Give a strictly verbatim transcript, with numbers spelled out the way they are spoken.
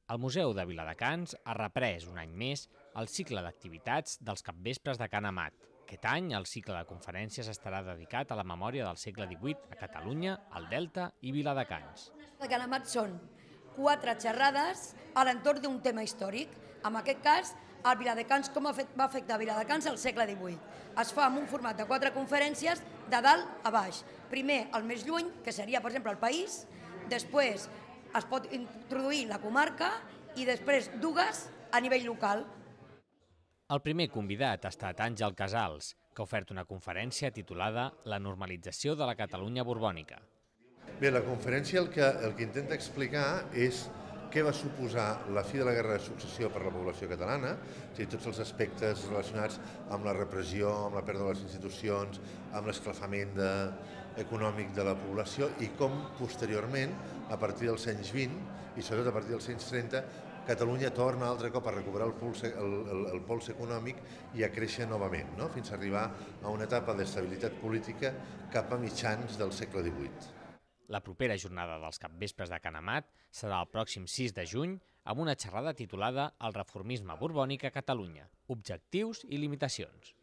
El Museu de Viladecans ha reprès un any més el cicle d'activitats dels capvespres de Can Amat. Aquest any el cicle de conferències estarà dedicat a la memòria del segle divuit a Catalunya, el Delta i Viladecans. De Can Amat són quatre xerrades a l'entorn d'un tema històric. En aquest cas, el Viladecans, com va afectar Viladecans al segle divuit. Es fa en un format de quatre conferències de dalt a baix. Primer, el més lluny, que seria, per exemple, el país, després es pot introduir la comarca i després dues a nivell local. El primer convidat ha estat Àngel Casals, que ha ofert una conferència titulada La normalització de la Catalunya borbònica. Bé, la conferència el que, el que intenta explicar és què va suposar la fi de la Guerra de Successió per la població catalana, o sigui, tots els aspectes relacionats amb la repressió, amb la pèrdua de les institucions, amb l'esclafament de, econòmic de la població i com posteriorment, a partir dels anys vint i sobretot a partir dels anys trenta, Catalunya torna altre cop a recuperar el pols, el, el, el pols econòmic i a créixer novament, no? Fins a arribar a una etapa d'estabilitat política cap a mitjans del segle divuit. La propera jornada dels capvespres de Can Amat serà el pròxim sis de juny amb una xerrada titulada El reformisme borbònic a Catalunya, objectius i limitacions.